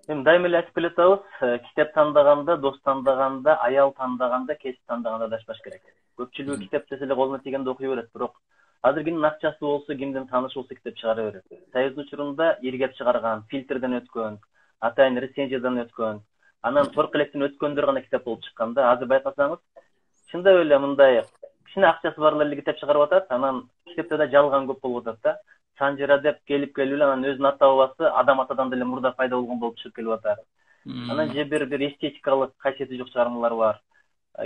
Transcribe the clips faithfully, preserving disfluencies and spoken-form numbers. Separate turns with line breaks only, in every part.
Эми дайыма эле айтып келатабыз, китеп тандаганда, дос тандаганда, аял тандаганда, кесип тандаганда адашпаш керек. Көпчүлүгү китеп десе эле колуна тигенде окуй берет, бирок азыр кимдин акчасы болсо, кимдин таанышы болсо китеп чыгара берет. Союздун учурунда иргеп чыгарган, фильтрден өткөн, атайын рецензиядан өткөн, анан торк электен өткөндөр гана китеп болуп чыккан да. Азыр байкасаңыз, чындап эле мындай кичине акчасы барлар эле китеп чыгарып атат, анан китепте да жалган көп болуп атат да. Санжира деп келип келип эле анан өзүнүн ата бабасы адам атадан деле мурда пайда болгон болуп чыгып келип атат. Анан же бир бир эстетикалык касиети жок чыгармалар бар.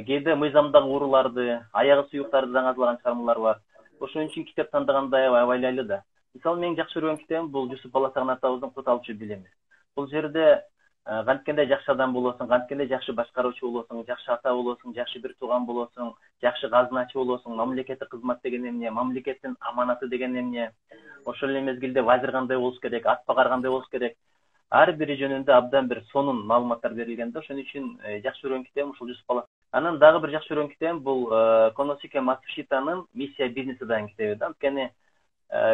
Кээде мыйзамдагы ууруларды, аягы суюктарды даңазлаган чыгармалар бар. Ошон үчүн китеп тандаганда аябай абайлайлы да. Мисалы менин жакшы көргөн китебим бул Жусуп Баласагын атабыздын Кут алчу билими. Бул жерде канткенде жакшы адам болосуң, канткенде жакшы башкаруучу болосуң, жакшы ата болосуң, жакшы бир тууган болосуң, жакшы казыначы болосуң, мамлекетке кызмат деген эмне, мамлекеттин аманаты деген эмне, ошол эле мезгилде вазир кандай болуш керек, атпагар кандай болуш керек, ар бири жөнүндө абдан бир сонун маалыматтар берилген да. Ошон үчүн жакшы көргөн китебим ушул Жусуп Бала. Анан дагы бир жакшы көргөн китебим бул Коносике Мацушитанын Миссия бизнеси деген китеби да. Анткени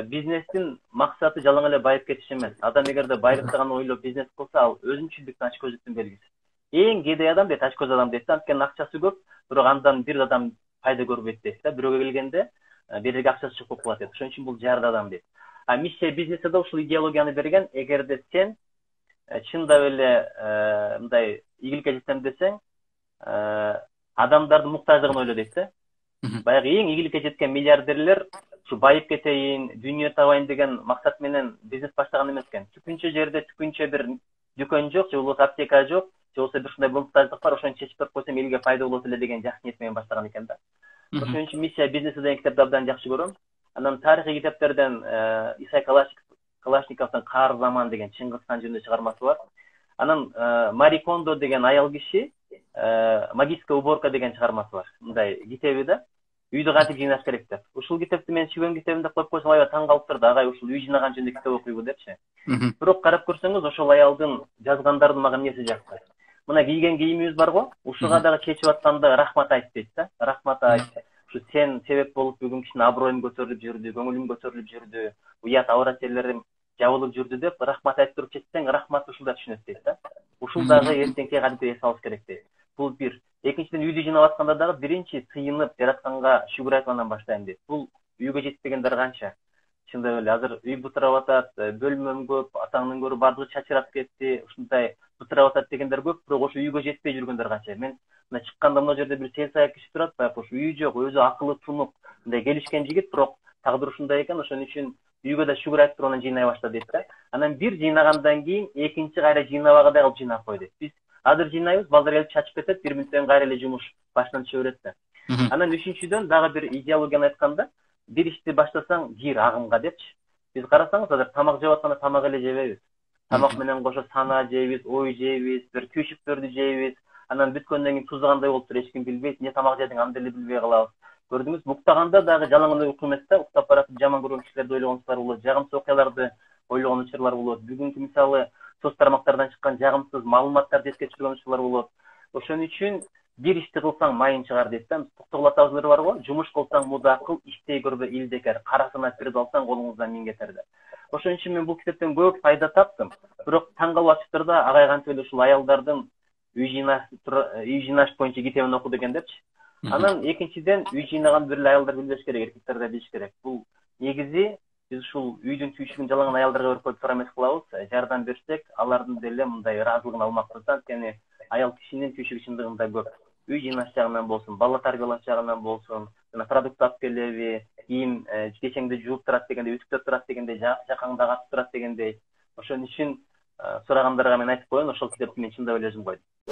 бизнестин максаты жалаң эле байып кетиш эмес. Адам эгерде байлыкты гана ойлоп бизнес кылса, ал өзүмчүлдүктүн ачкөздүктүн белгиси. Эң кедей адам дейт, ачкөз адам дейт да. Анткени акчасы көп, бирок андан бир адам пайда көрбөйт дейт да. Бирөөгө келгенде берерге акчасы жок болуп калат дейт. Ошон үчүн бул жарды адам дейт. А миссия бизнеси да ушул идеологияны берген. Эгерде сен чындап эле мындай ийгиликке жетсем десең, адамдардын муктаждыгын ойло дейт да. Баягы эң ийгиликке жеткен миллиардерлер ушу байып кетейин, дүйнө табайын деген максат менен бизнес баштаган эмес экен. Түкүнчө жерде түкүнчө бир дүкөн жок, же болбосо аптека жок, же болбосо бир ушундай муктаждык бар, ошону чечип берип койсом элге пайда болот эле деген жакшы ниет менен баштаган экен да. Ошон үчүн Миссия бизнеси деген китепти абдан жакшы көрөм. Анан тарыхый китептерден Исай Калашниковдун Каар заман деген Чыңгызхан жөнүндө чыгармасы бар. Анан Мари Кондо деген аял киши Магическая уборка деген чыгармасы бар. Мындай китеби да. Үйдү кантип жыйнаш керек деп. Ушул китепти мен сүйгөн китебим деп коюп койсом, аябай таң калып турду. Агай ушул үй жыйнаган жөнүндө китеп окуйбу депчи. Бирок карап көрсөңүз, ошол аялдын жазгандардын мага эмнеси жакты. Мына кийген кийимибиз барго, ушуга дагы чечип атканда рахмат айт дейт да. Рахмат айт. Ушу сен себеп болуп бүгүн кишинин аброюм көтөрүлүп жүрдү, көңүлүм көтөрүлүп жүрдү, уят авырат жерлерим жабылып жүрдү деп рахмат айтып туруп чечсең, рахмат ушулда түшүнөт дейт да. Ушул дагы эртеңки кадимки эс алыш керек дейт. Бул бир. Экинчиден, үйдү жыйнап атканда дагы биринчи сыйынып жаратканга шүгүр айтып андан баштайм дейт. Бул үйгө жетпегендер канча? Чындап эле азыр үй бутурап атат, бөлмөм көп, атаңдын көрү бардыгы чачырап кетти, ушундай бутурап атат дегендер көп, бирок ошо үйгө жетпей жүргөндөр канча? Мен мына чыкканда мына жерде бир сел саяк киши турат, баягы ошо үйү жок, өзү акылы тунук, мындай келишкен жигит, бирок тагдыр ушундай экен, ошон үчүн үйгө да шүгүр айтып туруп анан жыйнай башла дейт да. Анан бир жыйнагандан кийин экинчи кайра жыйнабагандай кылып жыйнап кой дейт. Биз азыр жыйнайбыз, балдар келип чачып кетет, бир мүнөттөн кайра эле жумуш башынан түшө берет да. Анан үчүнчүдөн дагы бир идеологияны айтканда, бир ишти баштасаң кир агымга депчи. Биз карасаңыз, азыр тамак жеп атканда тамак эле жебейбиз. Тамак менен кошо сана жейбиз, ой жейбиз, бир түйшүктөрдү жейбиз. Анан бүткөндөн кийин тузу кандай болуп туруп эч ким билбейт, эмне тамак жедиң аны деле билбей калабыз. Көрдүңүз, уктаганда дагы жалаң эле уйку эмес да, уктап баратып жаман көргөн кишилерди ойлогон учурлар болот, жагымсыз окуяларды ойлогон учурлар болот. Бүгүнкү мисалы соц тармактардан чыккан жагымсыз маалыматтарды эске түшүргөн учурлар болот. Ошон үчүн бир ишти кылсаң майын чыгар дейт да. Токтогул бар го, жумуш кылсаң муда кыл, иштей көрбө илдекер, карасына кирип алсаң колуңуздан миң кетер деп. Ошон үчүн мен бул китептен көп пайда таптым. Бирок таң калып атыптыр да, агай кантип эле ушул аялдардын үй жыйнаш үй жыйнаш боюнча китебин оку деген депчи. Анан экинчиден, үй жыйнаган бир эле аялдар билбеш керек, эркектер да билиш керек. Бул негизи биз ушул үйдүн түйшүгүн жаланган аялдарга берип коюп тура эмес кылабыз. Жардам берсек, алардын деле мындай ыраазылыгын алмакпыз да. Анткени аял кишинин түйшүгү чындыгында көп. Үй жыйнаш жагынан болсун, бала тарбиялаш жагынан болсун, жана продукт алып келеби, кийим кечеңди жууп турат дегендей, үтүктөп турат дегендей, жакаңда катып турат дегендей. Ошон үчүн сурагандарга мен айтып коеюн, ошол китепти мен чындап эле өзүм койдум.